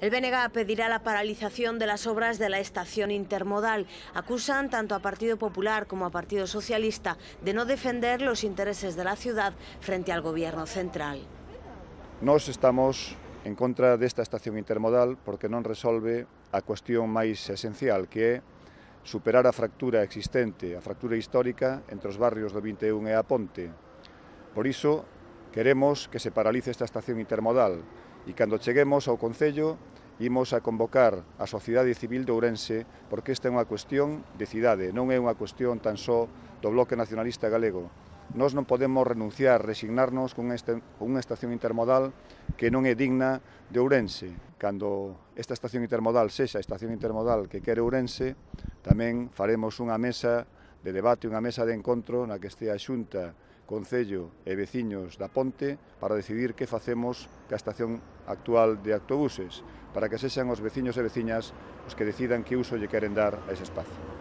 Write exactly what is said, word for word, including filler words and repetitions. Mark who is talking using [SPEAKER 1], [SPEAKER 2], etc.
[SPEAKER 1] El B N G pedirá la paralización de las obras de la estación intermodal. Acusan tanto a Partido Popular como a Partido Socialista de no defender los intereses de la ciudad frente al Gobierno central.
[SPEAKER 2] Nós estamos en contra desta estación intermodal porque non resolve a cuestión máis esencial, que é superar a fractura existente, a fractura histórica entre os barrios do vinte e un e a Ponte. Por iso, queremos que se paralice esta estación intermodal e cando cheguemos ao Concello imos a convocar a sociedade civil de Ourense porque esta é unha cuestión de cidade, non é unha cuestión tan só do Bloque Nacionalista Galego. Nós non podemos renunciar, resignarnos con unha estación intermodal que non é digna de Ourense. Cando esta estación intermodal sexa a estación intermodal que quere Ourense, tamén faremos unha mesa de debate, unha mesa de encontro na que estea a Xunta, Concello e veciños da Ponte para decidir que facemos ca estación actual de autobuses, para que sexan os veciños e veciñas os que decidan que uso lle queren dar a ese espacio.